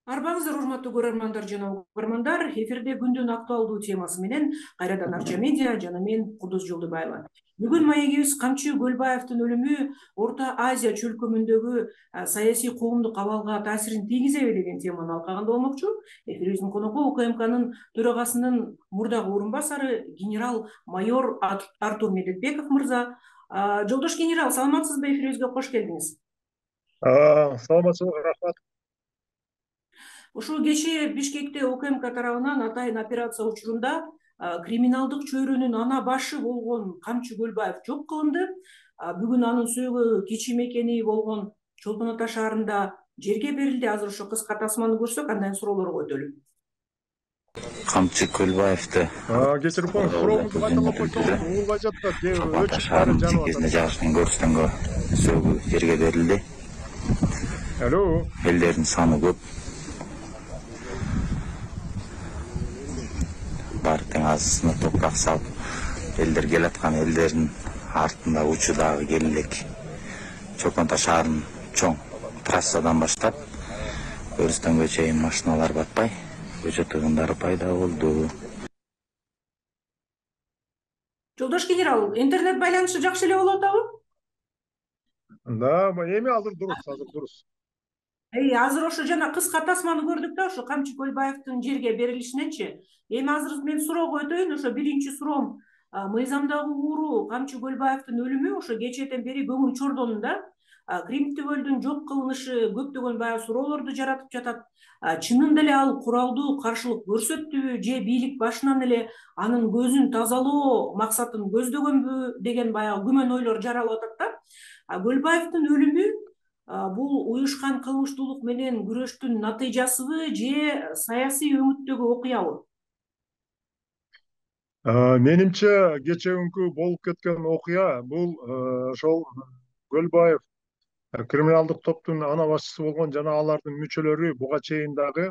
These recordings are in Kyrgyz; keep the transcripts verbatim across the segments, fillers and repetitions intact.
Арбаңыздар, урматтуу көрөрмандар жана угармандар. Эфирде күндүн актуалдуу темасы менен кайрадан Арча медиа жана мен Кудус Жолдубаева. Бүгүн маегибиз Камчы Көлбаевдин өлүмү Орто Азия чөлкөмүндөгү саясий коомдук абалга таасирин тийгизеби деген теманы алкаганда болмокчу. Эфирибиздин коногу УКМКнын төрагасынын мурдагы орун басары генерал майор Артур Медетбеков мырза. Жолдош генерал, саламатсызбы? Эфирибизге кош келдиңиз. Саламатсызбы, рахмат. Ушул кечээ Бишкекте УКМК тарабынан атайын операция учурунда криминалдык чөйрөнүн ана башы болгон Камчы Көлбаев жок кылынды. Бүгүн анын сөөгү кичи мекени болгон Чолпон Ата шаарында жерге берилди. Азыр ошо кыска тасманы көрсөк, андан суроолорго өтөлү. Камчы Көлбаевди кечирип коюңуз, сурооңузду кайталап койсоңуз угулбай жатат. Ата шаарынын кезинде жагышкан көрстөнгө сөөгү жерге берилди. Алло. Элдердин саны көп. Бар тең азысына топурак салып, элдер келаткан элдердин артында учудагы кел элек Чолпон Ата шаарынын чоң трассадан баштап Өрүстөнгө чейин машиналар батпай, көчө тыгындары пайда болду. Жолдош генерал, интернет байланышы жакшы эле болуп атабы? Да, эми азыр дурус, азыр дурус. Эй, азыр ошо жана кыска тасманы көрдүк да, ошо Камчы Көлбаевдин жерге берилишиненчи. Эми азыр мен суроого өтөйүн. Ошо биринчи суроом, мыйзамдагы ууру Камчы Көлбаевдин өлүмү ошо кечээден бери көңүл чордону да. Кримтүбөлдүн жок кылынышы көптөгөн баягы суроолорду жаратып жатат. Чынында эле ал куралдуу каршылык көрсөттүбү же бийлик башынан эле анын көзүн тазалоо максатын көздөгөнбү деген баягы күмөн ойлор жаралып атат да. Көлбаевдин өлүмү бул уюшкан кылмыштуулук менен күрөштүн натыйжасыбы же саясий өңүттөгү окуябы? Менимче кечээкүнкү болуп кеткен окуя бул ошол Көлбаев криминалдык топтун ана башчысы болгон жана алардын мүчөлөрү буга чейин дагы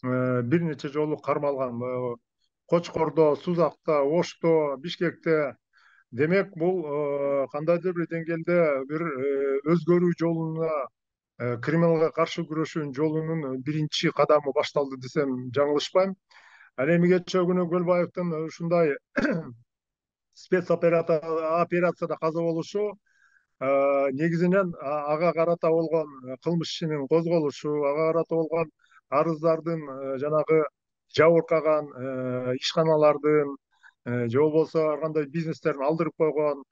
бир нече жолу кармалган. Кочкордо, Сузакта, Ошто, Бишкекте. Демек, бул кандайдыр бир деңгээлде бир өзгөрүү жолуна, криминалга каршы күрөшүүнүн жолунун биринчи кадамы башталды десем жаңылышпайм. Ал эми кечээ күнү Көлбаевдин ушундай спецоперацияда каза болушу негизинен ага карата болгон кылмыш ишинин козголушу, ага карата болгон арыздардын жанагы жабыркаган ишканалардын же болбосо ар кандай бизнестерин алдырып койгон,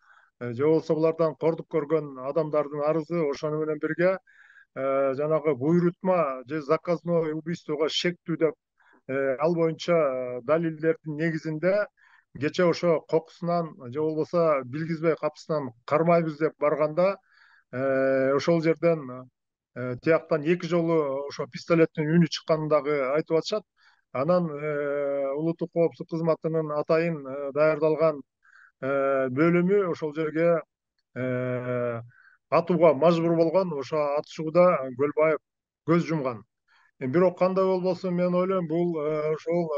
же болбосо булардан кордук көргөн адамдардын арызы, ошону менен бирге жанагы буйрутма же заказное убийствого шектүү деп ал боюнча далилдердин негизинде кечээ ошо кокусунан же болбосо билгизбей капысынан кармайбыз деп барганда ошол жерден тияктан эки жолу ошо пистолеттин үнү чыкканын дагы айтып атышат. Анан улуттук коопсуздук кызматынын атайын даярдалган бөлүмү ошол жерге атууга мажбур болгон. Ошо атышууда Көлбаев көз жумган. Бирок кандай болбосун, мен ойлойм, бул ошол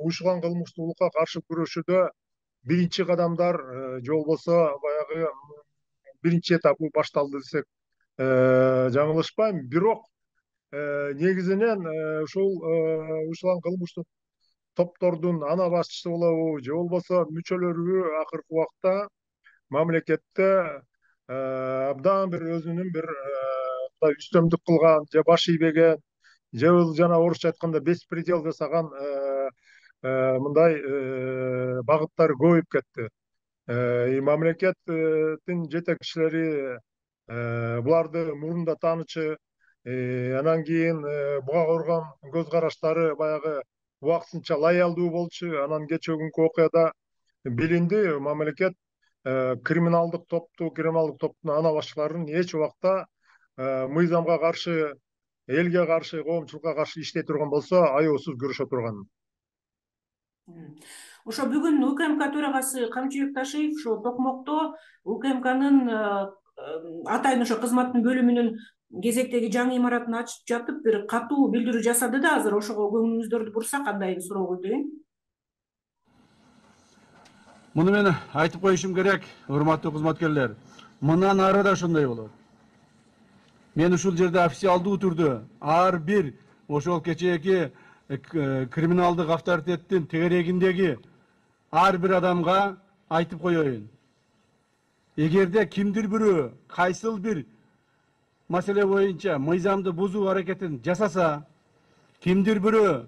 уюшкан кылмыштуулукка каршы күрөшүүдө биринчи кадамдар же болбосо баягы биринчи этабы башталды десек жаңылышпайм. Бирок негизинен ушул уюшкан кылмыштык топтордун ана башчысы болобу же болбосо мүчөлөрү акыркы убакта мамлекетте абдан бир өзүнүн бир үстөмдүк кылган же баш ийбеген же жана орусча айтканда беспредел жасаган мындай багыттары көбөйүп кетти. Мамлекеттин жетекчилери буларды мурунда таанычы, анан кийин буга көргөн көз караштары баягы убактысынча лоялдуу болчу. Анан кечээкүнкү окуяда билинди, мамлекет криминалдык топту, криминалдык топтун ана башчыларын эч убакта мыйзамга каршы, элге каршы, коомчулукка каршы иштей турган болсо аеосуз күрөшө турган. Ошо бүгүн УКМК төрагасы Камчыбек Ташиев ошо Токмокто УКМКнын атайын ошо кызматтын бөлүмүнүн кезектеги жаңы имаратын ачып жатып бир катуу билдирүү жасады да. Азыр ошого көңүлүңүздөрдү бурсак, кандай суроого өтөйүн. Муну мен айтып коюшум керек, урматтуу кызматкерлер. Мындан ары да ошондой болот. Мен ушул жерде официалдуу түрдө ар бир ошол кечээки криминалдык авторитеттин тегерегиндеги ар бир адамга айтып коеюн. Эгерде кимдир бирөө кайсыл бир маселе боюнча мыйзамды бузуу аракетин жасаса, кимдир бирөө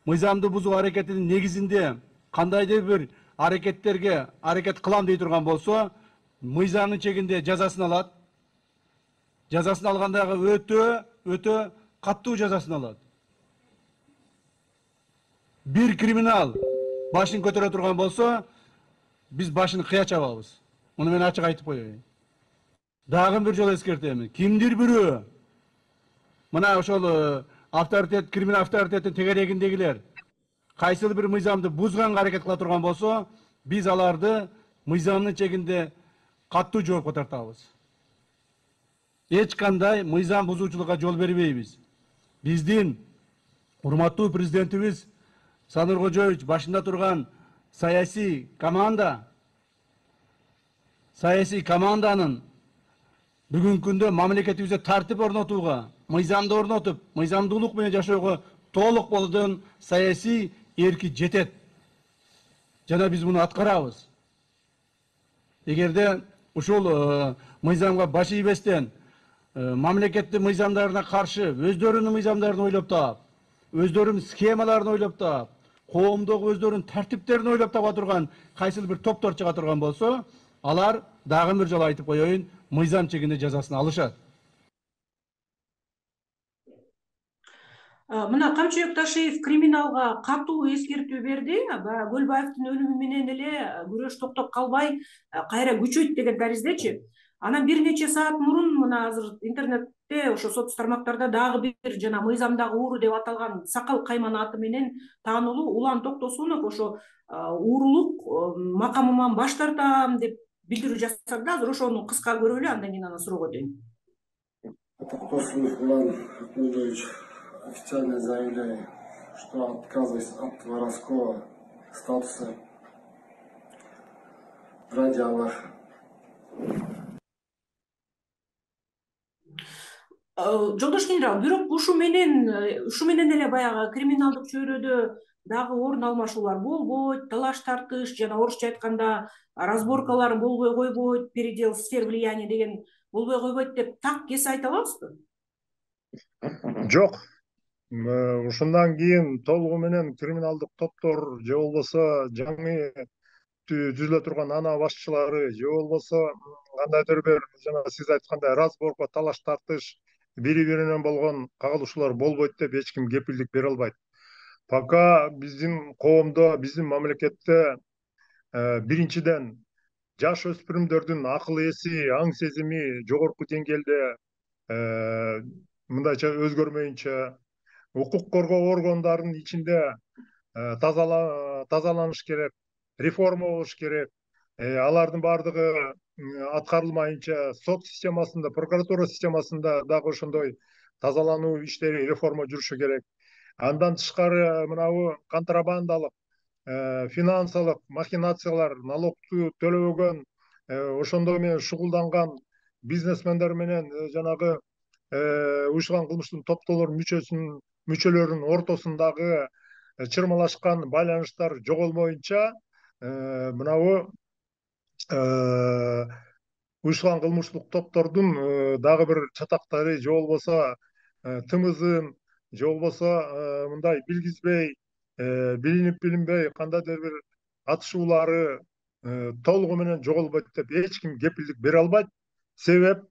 мыйзамды бузуу аракетинин негизинде кандайдыр бир аракеттерге аракет кылам дей турган болсо, мыйзамдын чегинде жазасын алат. Жазасын алгандагы өтө өтө каттуу жазасын алат. Бир криминал башын көтөрө турган болсо, биз башын кыя чабабыз. Муну мен ачык айтып коеюн. Дагы бир жолу эскертемин. Кимдир бирөө мына ошол авторитет, криминал авторитеттин тегерегиндегилер кайсыл бир мыйзамды бузганга аракет кыла турган болсо, биз аларды мыйзамдын чегинде каттуу жоопко тартабыз. Эч кандай мыйзам бузуучулукка жол бербейбиз. Биздин урматтуу президентибиз Саныр Кожоевич башында турган саясий команда, саясий команданын бүгүнкү күндө мамлекетибизде тартип орнотууга, мыйзамды орнотуп, мыйзамдуулук менен жашоого толук болгон саясий эрки жетет. Жана биз муну аткарабыз. Эгерде ушул мыйзамга баш ийбестен мамлекеттин мыйзамдарына каршы өздөрүнүн мыйзамдарын ойлоп таап, өздөрүнүн схемаларын ойлоп таап, коомдогу өздөрүнүн тартиптерин ойлоп таба турган кайсыл бир топтор чыга турган болсо, алар дагы бир жолу айтып коеюн, мыйзам чегинде жазасын алышат. Мына Камчыбек Ташиев криминалга катуу эскертүү берди. Көлбаевдин өлүмү менен эле күрөш токтоп калбай, кайра күчөйт деген тариздечи. Анан бир нече саат мурун мына азыр интернетте, ошо соц тармактарда дагы бир жана мыйзамдагы ууру деп аталган Сакал Кайман аты менен таанылуу Улан Токтосунов ошо уурулук макамыман баш тартам деп билдирүү жасады. Азыр ошону кыска көрөлү, андан кийин анан суроого өтөйүн. Токтосунов Улан Ахмедович, официально заявляю, что отказываюсь от воровского статуса ради Аллаха. Жолдош генерал, бирок ушу менен ушу менен эле баягы криминалдык чөйрөдө дагы орун алмашуулар болбойт, талаш тартыш жана орусча айтканда разборкалар болбой койбойт, передел сфер влияния деген болбой койбойт деп так кесе айта алабызбы? Жок. Ушундан кийин толугу менен криминалдык топтор же болбосо жаңы түзүлө турган ана башчылары же болбосо кандайдыр бир жана сиз айткандай разборко, талаш тартыш, бири биринен болгон кагылышуулар болбойт деп эч ким кепилдик бере албайт. Пока биздин коомдо, биздин мамлекетте биринчиден жаш өспүрүмдөрдүн акыл эси, аң сезими жогорку деңгээлде мындайча өзгөрмөйүнчө, укук коргоо органдарынын ичинде тазаланыш керек, реформа болуш керек. Алардын баардыгы аткарылмайынча сот системасында, прокуратура системасында дагы ошондой тазалануу иштери, реформа жүрүшү керек. Андан тышкары мынабу контрабандалык, финансылык махинациялар, налогду төлөбөгөн, ошондой менен шугулданган бизнесмендер менен жанагы уюшкан кылмыштын топтолорунун мүчөсүнүн мүчөлөрүнүн ортосундагы чырмалашкан байланыштар жоголмоюнча мынабу уюшкан кылмыштык топтордун дагы бир чатактары же болбосо тымызын же болбосо мындай билгизбей, билинип билинбей кандайдыр бир атышуулары толугу менен жоголбойт деп эч ким кепилдик бере албайт. Себеп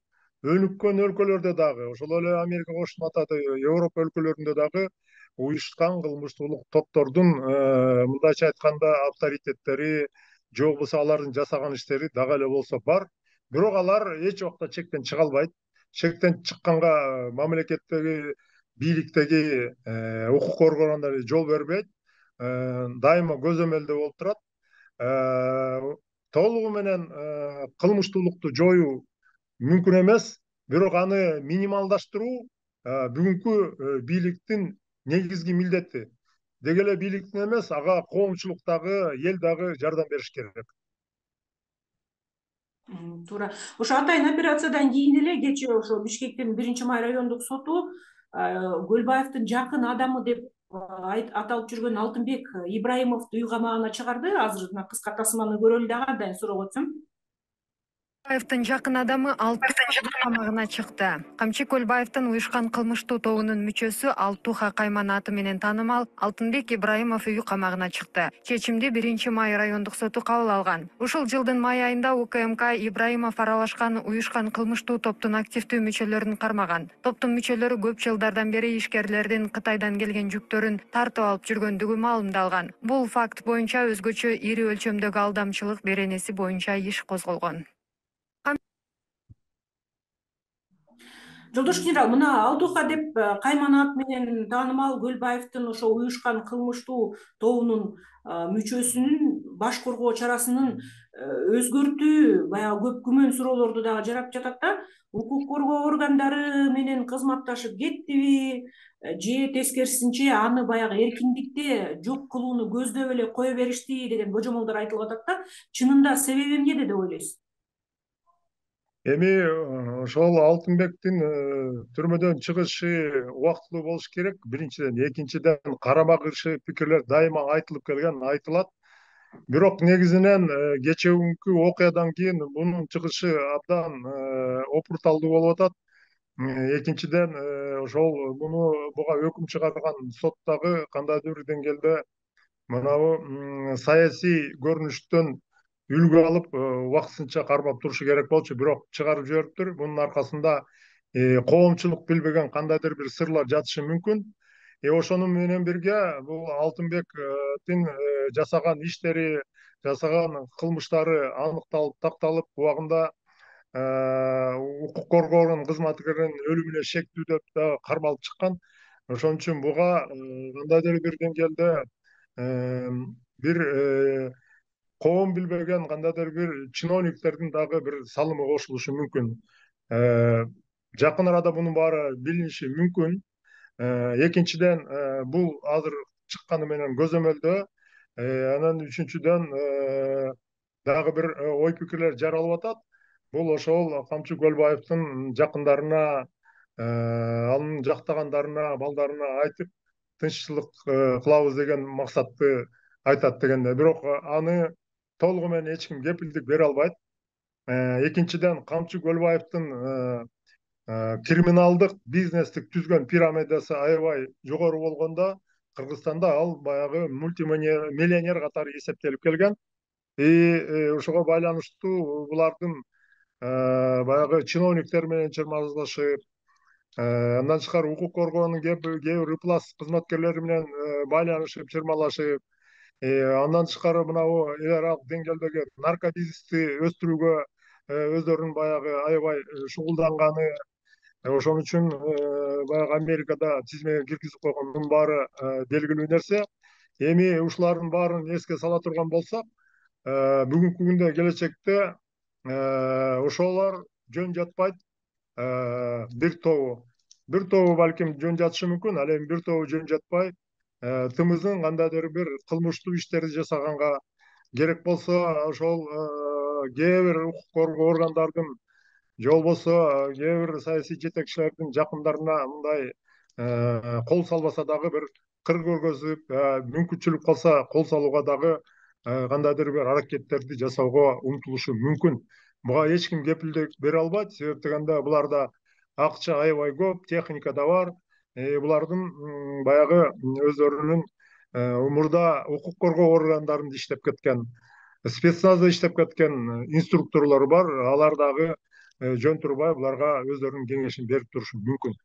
өнүккөн өлкөлөрдө дагы, ошол эле Америка Кошмо Атады, Европа өлкөлөрүндө дагы уюшкан кылмыштуулук топтордун мындайча айтканда авторитеттери же болбосо алардын жасаган иштери дагы эле болсо бар. Бирок алар эч убакта чектен чыга албайт. Чектен чыкканга мамлекеттеги, бийликтеги укук органдары жол бербейт. Дайыма көзөмөлдө болуп турат. Толугу менен кылмыштуулукту жоюу мүмкүн эмес, бирок аны минималдаштыруу бүгүнкү бийликтин негизги милдети. Деги эле бийликтин эмес, ага коомчулук дагы, эл дагы жардам бериш керек. Туура. Ошо атайын операциядан кийин эле кечээ ошо Бишкектин биринчи май райондук соту Көлбаевдин жакын адамы деп аталып жүргөн Алтынбек Ибраимовду үй камагына чыгарды. Азыр мына кыска тасманы көрөлү дагы андан суроо кетсем. Көлбаевдин жакын адамы Алтуу камагына чыкты. Камчы Көлбаевдин уюшкан кылмыштуу тобунун мүчөсү Алтуха Кайман аты менен таанымал Алтынбек Ибраимов үй камагына чыкты. Чечимди биринчи май райондук соту кабыл алган. Ушул жылдын май айында УКМК Ибраимов аралашкан уюшкан кылмыштуу топтун активдүү мүчөлөрүн кармаган. Топтун мүчөлөрү көп жылдардан бери ишкерлердин Кытайдан келген жүктөрүн тартып алып жүргөндүгү маалымдалган. Бул факт боюнча өзгөчө ири өлчөмдөгү алдамчылык беренеси боюнча иш козголгон. Жолдош генерал, мына Алтуха деп Кайман аты менен таанымал Көлбаевдин ошо уюшкан кылмыштуу тобунун мүчөсүнүн баш коргоо чарасынын өзгөртүү баягы көп күмөн суроолорду дагы жарап жатат да. Укук коргоо органдары менен кызматташып кеттиби же тескерисинче аны баягы эркиндикте жок кылууну көздөп эле кое беришти деген божомолдор айтылып атат да. Чынында себеби эмнеде деп ойлойсуз? Эми ошол Алтынбектин түрмөдөн чыгышы убактылуу болуш керек. Биринчиден, экинчиден карама каршы пикирлер дайыма айтылып келген, айтылат. Бирок негизинен кечээ күнкү окуядан кийин мунун чыгышы абдан опурталдуу болуп атат. Экинчиден, ошол муну буга өкүм чыгарган соттогу кандайдыр бир деңгээлде мынабу саясий көрүнүштөн үлгү алып убактысынча кармап турушу керек болчу, бирок чыгарып жибериптир. Мунун аркасында коомчулук билбеген кандайдыр бир сырлар жатышы мүмкүн. Ошону менен бирге бул Алтынбектин жасаган иштери, жасаган кылмыштары аныкталып, такталып, убагында укук коргоонун кызматкеринин өлүмүнө шектүү деп да кармалып чыккан. Ошон үчүн буга кандайдыр бир деңгээлде бир коом билбеген кандайдыр бир чиновниктердин дагы бир салымы кошулушу мүмкүн. Жакын арада мунун баары билиниши мүмкүн. Экинчиден, бул азыр чыкканы менен көзөмөлдө. Анан үчүнчүдөн дагы бир ой пикирлер жаралып атат. Бул ошол Камчы Көлбаевдин жакындарына, анын жактагандарына, балдарына айтып, тынччылык кылабыз деген максатты айтат дегенде. Бирок аны толугу менен эч ким кепилдик бере албайт. Экинчиден, Камчы Көлбаевдин криминалдык бизнестик түзгөн пирамидасы аябай жогору болгондо, Кыргызстанда ал баягы мультимиллионер катары эсептелип келген. И ошого байланыштуу булардын баягы чиновниктер менен чырмаалашып, андан тышкары укук коргоонун кээ бир ыплас кызматкерлери менен байланышып, чырмалашып, андан тышкары мынабу эл аралык деңгээлдеги наркобизнести өстүрүүгө өздөрүнүн баягы аябай шугулданганы, ошон үчүн баягы Америкада тизмеге киргизип койгон, мунун баары белгилүү нерсе. Эми ушулардын баарын эске сала турган болсок, бүгүнкү күндө келечекте ошолор жөн жатпайт. Бир тобу, бир тобу балким жөн жатышы мүмкүн, ал эми бир тобу жөн жатпай, тымыздын кандайдыр бир кылмыштуу иштерди жасаганга керек болсо, ошол кээ бир укук коргоо органдардын же болбосо кээ бир саясий жетекчилердин жакындарына мындай кол салбаса дагы бир кыр көргөзүп, мүмкүнчүлүк калса кол салууга дагы кандайдыр бир аракеттерди жасоого умтулушу мүмкүн. Буга эч ким кепилдик бере албайт. Себеп дегенде буларда акча аябай көп, техника да бар. Булардын баягы өздөрүнүн мурда укук коргоо органдарында иштеп кеткен, спецназда иштеп кеткен инструкторлор бар. Алар дагы жөн турбай буларга өздөрүнүн кеңешин берип турушу мүмкүн.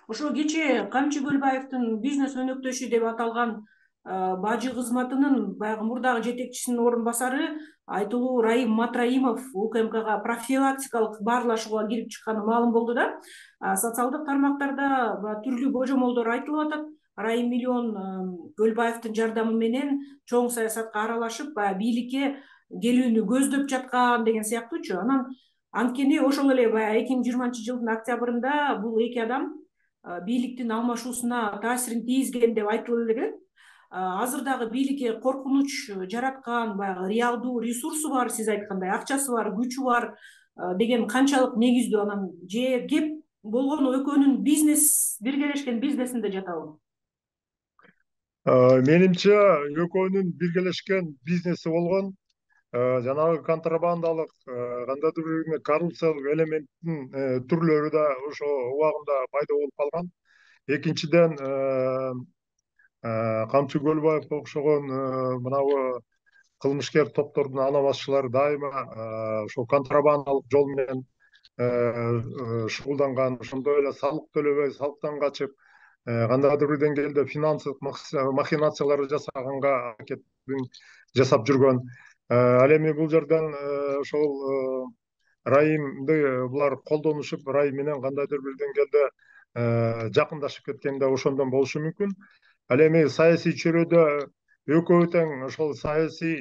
Ошо кечээ Камчы Көлбаевдин бизнес өнөктөшү деп аталган бажы кызматынын баягы мурдагы жетекчисинин орун басары айтылуу Раим Матраимов УКМКга профилактикалык баарлашууга кирип чыкканы маалым болду да. Социалдык тармактарда түрлүү божомолдор айтылып атат. Раим миллион Көлбаевдин жардамы менен чоң саясатка аралашып, бийликке келүүнү көздөп жаткан деген сыяктуучу. Анан анткени ошол эле баягы эки миң жыйырманчы жылдын октябрында бул эки адам бийликтин алмашуусуна таасирин тийгизген деп айтылып эле. Азыр дагы бийликке коркунуч жараткан баягы реалдуу ресурсу бар, сиз айткандай акчасы бар, күчү бар. деген канчалык негиздүү, анан же кеп болгону экөөнүн бизнес биргелешкен бизнесинде жатабы? Менимче экөөнүн биргелешкен бизнеси болгон, жанагы контрабандалык кандайдыр бир коррупциялык элементтин түрлөрү да ошо убагында пайда болуп калган. Экинчиден, Камчы Көлбаев окшогон мынабу кылмышкер топтордун ана башчылары дайыма ошо контрабандалык жол менен шугулданган, ошондой эле салык төлөбөй, салыктан качып, кандайдыр бир деңгээлде финансылык махинациялар жасаганга аракетин жасап жүргөн. Ал эми бул жерден ошол Райымды булар колдонушуп, Райым менен кандайдыр бир деңгээлде жакындашып кеткен да ошондон болушу мүмкүн. Ал эми саясий чөйрөдө экөө тең ошол саясий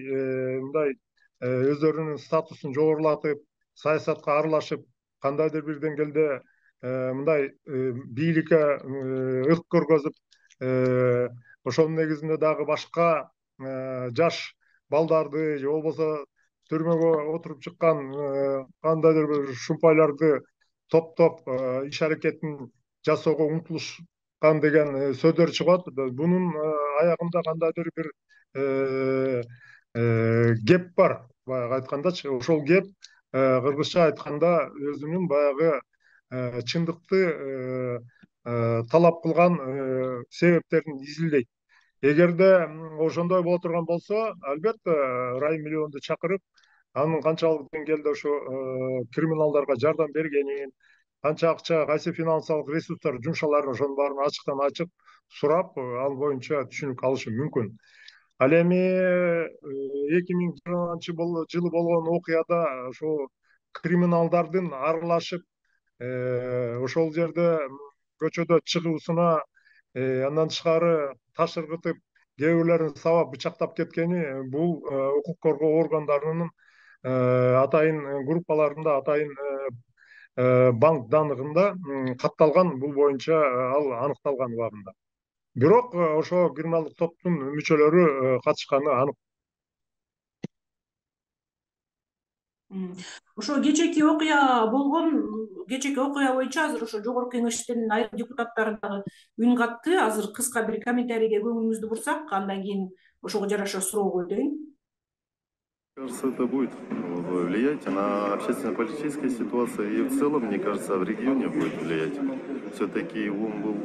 мындай өздөрүнүн статусун жогорулатып, саясатка аралашып, кандайдыр бир деңгээлде мындай бийликке ырк көргөзүп, ошонун негизинде дагы башка жаш балдарды же болбосо түрмөгө отуруп чыккан кандайдыр бир шумпайларды топтоп иш аракетин жасоого умтулушкан деген сөздөр чыгат. Бунун аягында кандайдыр бир кеп бар. Баягы айткандачы, ошол кеп кыргызча айтканда өзүнүн баягы чындыкты талап кылган себептерин изилдейт. Эгерде ошондой боло турган болсо, албетте Райым миллионду чакырып, анын канчалык деңгээлде ошо криминалдарга жардам бергенин, канча акча, кайсы финансылык ресурстар жумшаларын, ошонун баарын ачыктан ачык сурап, ал боюнча түшүнүк алышы мүмкүн. Ал эми эки миң жыйырманчы жылы болгон окуяда ошо криминалдардын аралашып, ошол жерде көчөдө чыгуусуна, андан тышкары таш ыргытып, кээ бирлерин сабап бычактап кеткени бул укук коргоо органдарынын атайын группаларында, атайын банк даныгында катталган, бул боюнча ал аныкталган убагында. Бирок ошо криминалдык топтун мүчөлөрү катышканы анык. Ошо кечеки окуя болгон, кечеки окуя боюнча азыр ошо жогорку кеңештин айрым депутаттары дагы үн катты. Азыр кыска бир комментарийге көңүлүңүздү бурсак, андан кийин ошого жараша суроо койдойм. Кажется, это будет влиять на общественно-политическую ситуацию и в целом, мне кажется, в регионе будет влиять. Все-таки он был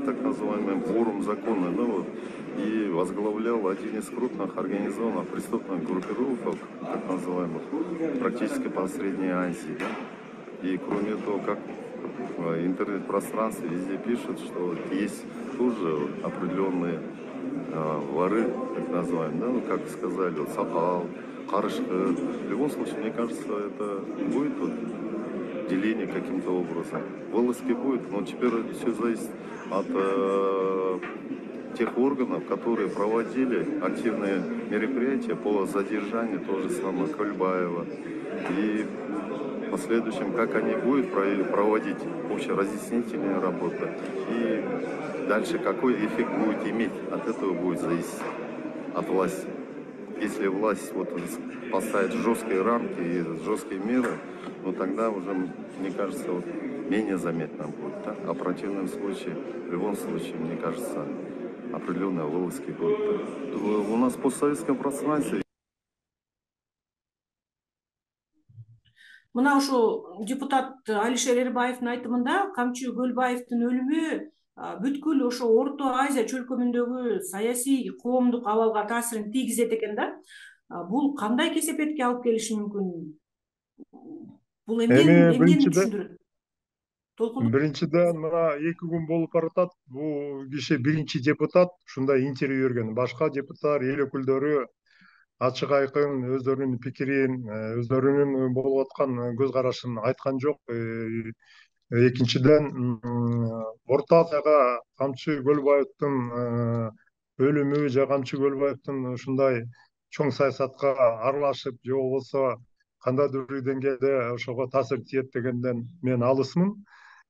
так называемым вором закона, да, вот, и возглавлял один из крупных организованных преступных группировок, так называемых, практически по Средней Азии. Да? И кроме того, как в интернет-пространстве везде пишут, что есть тоже определенные э, воры, так называемые, да, ну, как сказали, вот, Сакал, Карышка. В любом случае, мне кажется, это будет вот деление каким-то образом. Волоски будет, но теперь все зависит от э, тех органов, которые проводили активные мероприятия по задержанию того же самого Кольбаева. И в последующем, как они будут проводить общеразъяснительные работы. И дальше какой эффект будет иметь, от этого будет зависеть, от власти. Если власть вот поставит жесткие рамки и жесткие меры, ну тогда уже, мне кажется, вот, менее заметно будет. Да? А в противном случае, в любом случае, мне кажется, определенные вылазки будут. У нас в постсоветском пространстве. Мына ошо депутат Алишер Эрбаевдин айтымында Камчы Көлбаевдин өлүмү бүткүл ошо Орто Азия чөлкөмүндөгү саясий коомдук абалга таасирин тийгизет экен да. Бул кандай кесепетке алып келиши мүмкүн? Бул эмнени түшүндүрөт? Биринчиден, мына эки күн болуп баратат. Бул киши биринчи депутат ушундай интервью берген. Башка депутаттар, эл өкүлдөрү ачык айкын өздөрүнүн пикирин, өздөрүнүн болуп аткан көз карашын айткан жок. Экинчиден, Орто Азияга Камчы Көлбаевдин өлүмү же Камчы Көлбаевдин ушундай чоң саясатка аралашып, же болбосо кандайдыр бир деңгээлде ошого таасир тиет дегенден мен алысмын.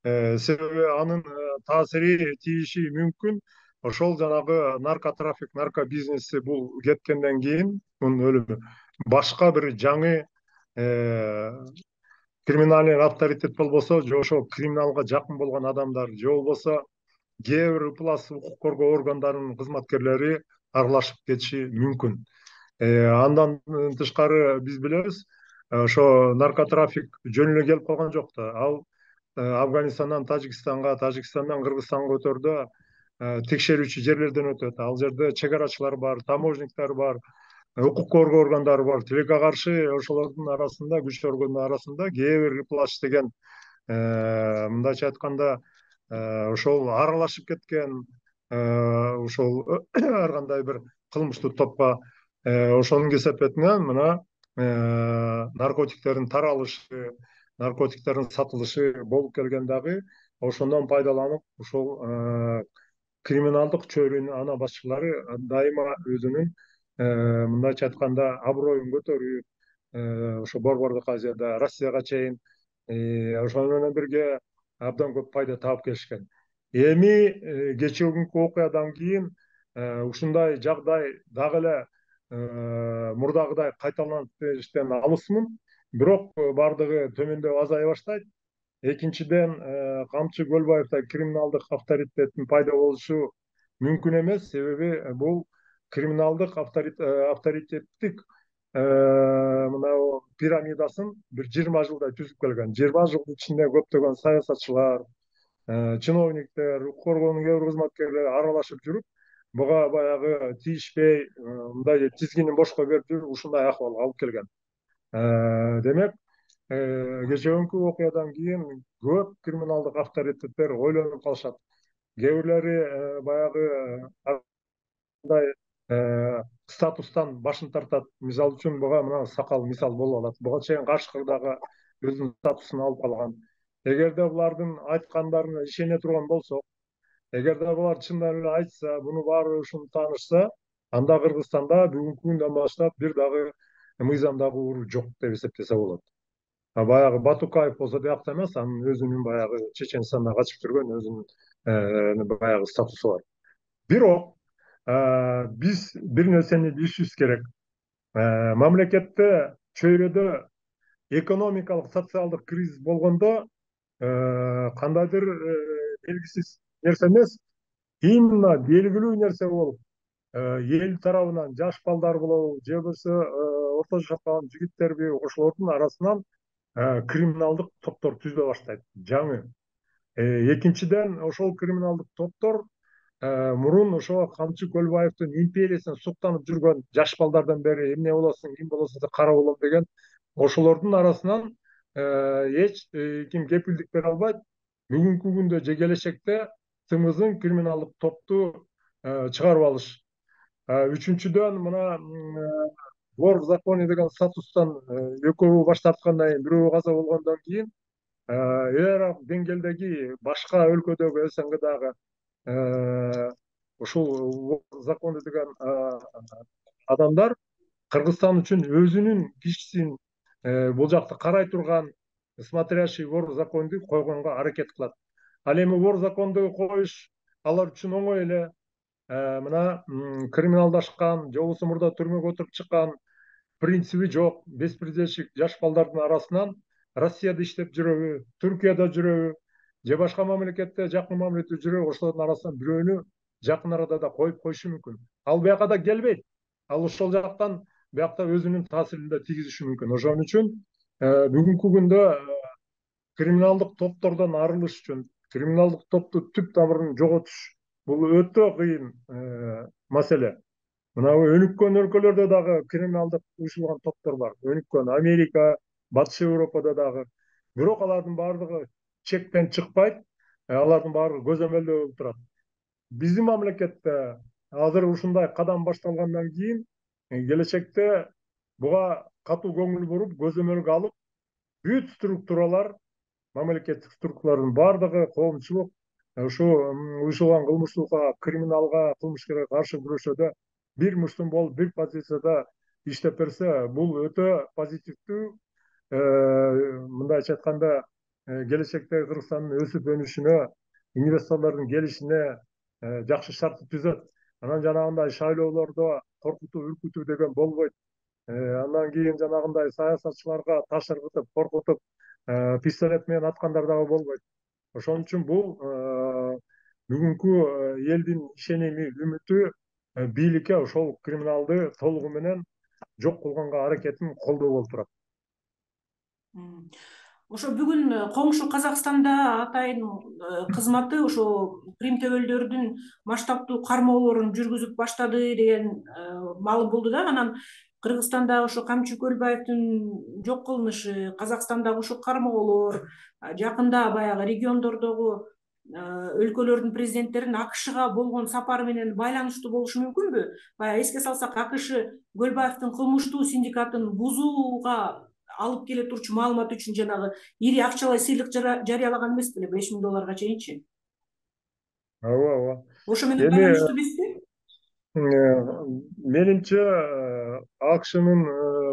Себеби анын таасири тийиши мүмкүн. Ошол жанагы наркотрафик, наркобизнеси бул кеткенден кийин, мунун өлүмү башка бир жаңы криминалдык авторитет болбосо, же ошол криминалга жакын болгон адамдар, же болбосо кээ бир ыплас укук коргоо органдарынын кызматкерлери аралашып кетиши мүмкүн. Андан тышкары биз билебиз, ошо наркотрафик жөн эле келип калган жок да. Ал Афганистандан Тажикстанга, Тажикстандан Кыргызстанга өтөрдө текшерүүчү жерлерден өтөт. Ал жерде чек арачылар бар, таможниктер бар, укук коргоо органдары бар. Тилекке каршы ошолордун арасында, күч өргөндүн арасында кээ бир ыплас деген, мындайча айтканда, ошол аралашып кеткен, ошол ар кандай бир кылмыштуу топко ошонун кесепетинен мына наркотиктердин таралышы, наркотиктердин сатылышы болуп келген дагы ошондон пайдаланып, ошол криминалдык чөйрөнүн ана башчылары дайыма өзүнүн мындайча айтканда аброюн көтөрүп, ошо Борбордук Азияда, Россияга чейин ошону менен бирге абдан көп пайда таап келишкен. Эми кечээкүнкү окуядан кийин ушундай жагдай дагы эле мурдагыдай кайталанып бериштен алысмын. Бирок бардыгы төмөндөп азая баштайт. Экинчиден, Камчы Көлбаевда криминалдык авторитеттин пайда болушу мүмкүн эмес, себеби бул криминалдык авторитеттик мына пирамидасын бир жыйырма жылдай түзүп келген. жыйырма жылдын ичинде көптөгөн саясатчылар, чиновниктер, укук коргоонун кээ бир кызматкерлери аралашып жүрүп, буга баягы тийишпей, мындай тизгинин бошко берип жүрүп, ушундай акыбалга алып келген. Демек, кечээкүнкү окуядан кийин көп криминалдык авторитеттер ойлонуп калышат. Кээ бирлери баягы мындай статустан башын тартат. Мисалы үчүн буга мына Сакал мисал болуп алат. Буга чейин Кашкырдагы өзүнүн статусун алып калган. Эгерде булардын айткандарына ишене турган болсок, эгерде булар чындан эле айтса, буну баары ушуну таанышса, анда Кыргызстанда бүгүнкү күндөн баштап бир дагы мыйзамдагы уруу жок деп эсептесе болот. Баягы Батукаев болсо биякта эмес, анын өзүнүн баягы Чеченстанда качып жүргөн өзүнүн баягы статусу бар. Бирок биз бир нерсени билишибиз керек. Мамлекетте чөйрөдө экономикалык, социалдык кризис болгондо кандайдыр белгисиз нерсе эмес, именно белгилүү нерсе болуп, эл тарабынан жаш балдар болобу, же болбосо орто жашап калган жигиттерби, ошолордун арасынан криминалдык топтор түзүлө баштайт, жаңы. Экинчиден, ошол криминалдык топтор мурун ошо Камчы Көлбаевдин империясына суктанып жүргөн жаш балдардан бери эмне болосуң, ким болосуң деп кара болом деген, ошолордун арасынан эч ким кепилдик бере албайт. Бүгүнкү күндө же келечекте тымызын криминалдык топту чыгарып алыш. Үчүнчүдөн, мына вор в законе деген статустан экөө баш тарткандан кийин, бирөө каза болгондон кийин, эр деңгээлдеги башка өлкөдөгү СНГдагы ушул законы деген адамдар Кыргызстан үчүн өзүнүн кишисин бул жакта карай турган смотрящий вор законду койгонго аракет кылат. Ал эми вор законду коюш алар үчүн оңой эле. Мына криминалдашкан, же болбосо мурда түрмөгө отуруп чыккан, принциби жок, беспредельщик жаш балдардын арасынан Россияда иштеп жүрөбү, Түркияда жүрөбү, же башка мамлекетте жакын мамлекетте жүрөбү, ошолордун арасынан бирөөнү жакын арада да коюп коюшу мүмкүн. Ал бияка да келбейт. Ал ошол жактан биякта өзүнүн таасирин да тийгизиши мүмкүн. Ошон үчүн бүгүнкү күндө криминалдык топтордон арылыш үчүн, криминалдык топту түп тамырын жоготуш бул өтө кыйын маселе. Мына өнүккөн өлкөлөрдө дагы криминалдык уюшулган топтор бар. Өнүккөн Америка, Батыш Европада дагы. Бирок алардын баардыгы чектен чыкпайт, алардын баардыгы көзөмөлдөө болуп турат. Биздин мамлекетте азыр ушундай кадам башталгандан кийин келечекте буга катуу көңүл буруп, көзөмөлгө алып, бүт структуралар, мамлекеттик структуралардын баардыгы коомчулук ушу уюшулган кылмыштуулукка, криминалга, кылмышкерге каршы күрөшүүдө бир муштум болуп, бир позицияда иштеп берсе, бул өтө позитивдүү, мындайча айтканда, келечекте Кыргызстандын өсүп өнүшүнө, инвесторлордун келишине жакшы шарт түзөт. Анан жанагындай шайлоолордо коркутуу, үркүтүү деген болбойт. Андан кийин жанагындай саясатчыларга таш ыргытып, коркутуп, пистолет менен аткандар дагы болбойт. Ошон үчүн бул бүгүнкү элдин ишеними, үмүтү бийликке ошол криминалды толугу менен жок кылганга аракетин колдоо болуп турат. Ошо бүгүн коңшу Казакстанда атайын кызматы ошо Крим төбөлдөрүнүн масштабдуу кармоолорун жүргүзүп баштады деген маалым болду да. Анан Кыргызстанда ошо Камчы Көлбаевдин жок кылынышы, Казакстандагы ушул кармоолор, жакында баягы региондордогу өлкөлөрдүн президенттеринин АКШга болгон сапары менен байланыштуу болушу мүмкүнбү? Баягы эске салсак, АКШ Көлбаевдин кылмыштуу синдикатын бузууга алып келе турчу маалымат үчүн жанагы ири акчалай сыйлык жарыялаган эмес беле, беш миң долларга чейинчи? Ооба, ооба. Ошо менен байланыштуу эмеспи? Менимче АКШнын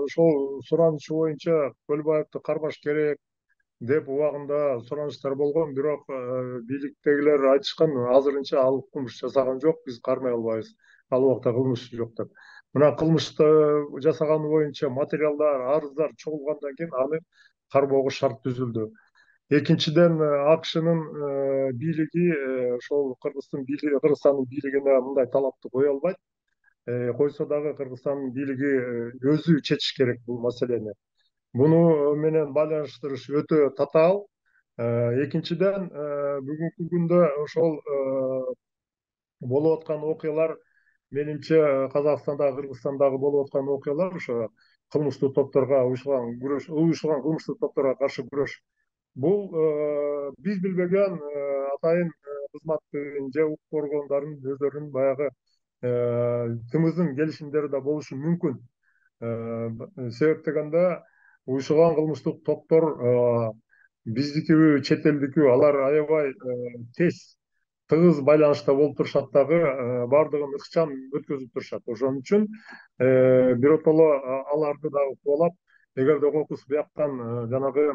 ошол суранычы боюнча Көлбаевди кармаш керек деп убагында суранычтар болгон, бирок бийликтегилер айтышкан, азырынча ал кылмыш жасаган жок, биз кармай албайбыз, ал убакта кылмыш жок деп. Мына кылмышты жасаганы боюнча материалдар, арыздар чогулгандан кийин аны кармоого шарт түзүлдү. Экинчиден, АКШнын бийлиги ошол Кыргыздын бийлиги, Кыргызстандын бийлигине мындай талапты кое албайт. Койсо дагы Кыргызстандын бийлиги өзү чечиш керек бул маселени. Буну менен байланыштырыш өтө татаал. Экинчиден, бүгүнкү күндө ошол болуп аткан окуялар, менимче Казакстандагы, Кыргызстандагы болуп аткан окуялар ошо кылмыштуу топторго уюшулган күрөш, уюшулган кылмыштуу топторго каршы күрөш. Бул биз билбеген атайын кызматтын же укук коргондордун өздөрүнүн баягы тымыздын келишимдери да болушу мүмкүн. Себеп дегенде уюшулган кылмыштуу топтор биздикиби, чет элдикиби, алар аябай тез, тыгыз байланышта болуп турушат дагы, баардыгын ыкчам өткөзүп турушат. Ошон үчүн биротоло аларды дагы кубалап, эгерде кокус бияктан жанагы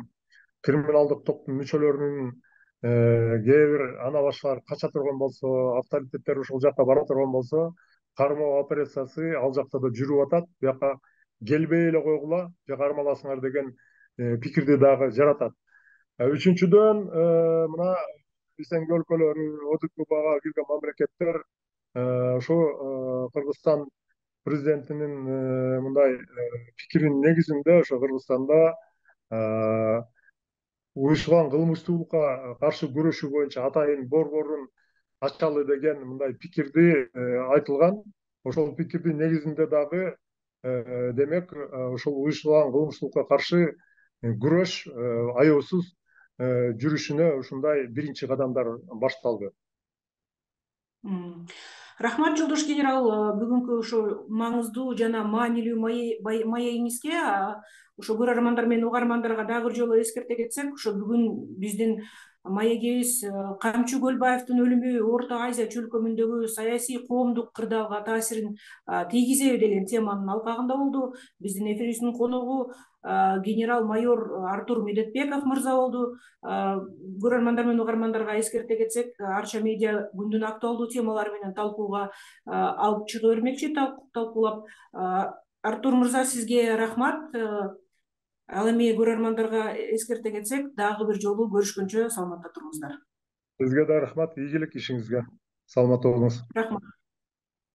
криминалдык топтун мүчөлөрүнүн кээ бир ана башкалар кача турган болсо, авторитеттер ушул жакка бара турган болсо, кармоо операциясы ал жакта да жүрүп атат. Бияка келбей эле койгула, же кармаласыңар деген пикирди дагы жаратат. Үчүнчүдөн, мына биздин өлкөлөрү, ОДКБга кирген мамлекеттер ошо Кыргызстан президентинин мындай пикиринин негизинде ошо Кыргызстанда уюшулган кылмыштуулукка каршы күрөшүү боюнча атайын борборун ачалы деген мындай пикирди айтылган. Ошол пикирдин негизинде дагы демек ошол уюшулган кылмыштуулукка каршы күрөш аяосуз жүрүшүнө ушундай биринчи кадамдар башталды. Рахмат Жолдош генерал, бүгүнкү ошо маңыздуу жана маанилүү маегиңизге. Ошо көрөрмандар менен угармандарга дагы бир жолу эскерте кетсек, ошо бүгүн биздин маегибиз Камчы Көлбаевдин өлүмү Орто Азия чөлкөмүндөгү саясий коомдук кырдаалга таасирин тийгизеби деген теманын алкагында болду. Биздин эфирибиздин коногу генерал-майор Артур Медетбеков мырза болду. Көрөрмандар менен угармандарга эскерте кетсек, Арча медиа күндүн актуалдуу темалары менен талкууга алып чыга бермекчи, талкуулап. Артур мырза, сизге рахмат. Ал эми көрөрмандарга эскерте кетсек, дагы бир жолу көрүшкөнчө саламатта туруңуздар. Сизге да рахмат, ийгилик ишиңизге. Саламатта болуңуз. Рахмат.